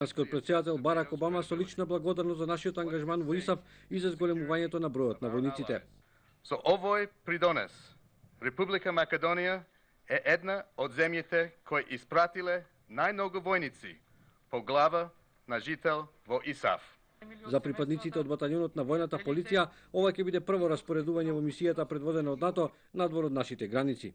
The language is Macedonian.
Американскиот претседател Барак Обама со лична благодарност за нашиот ангажман во ИСАФ и за зголемувањето на бројот на војниците. Со овој придонес, Република Македонија е една од земјите кои испратиле најмногу војници по глава на жител во ИСАФ. За припадниците од баталјонот на војната полиција, ова ќе биде прво распоредување во мисијата предводена од НАТО надвор од нашите граници.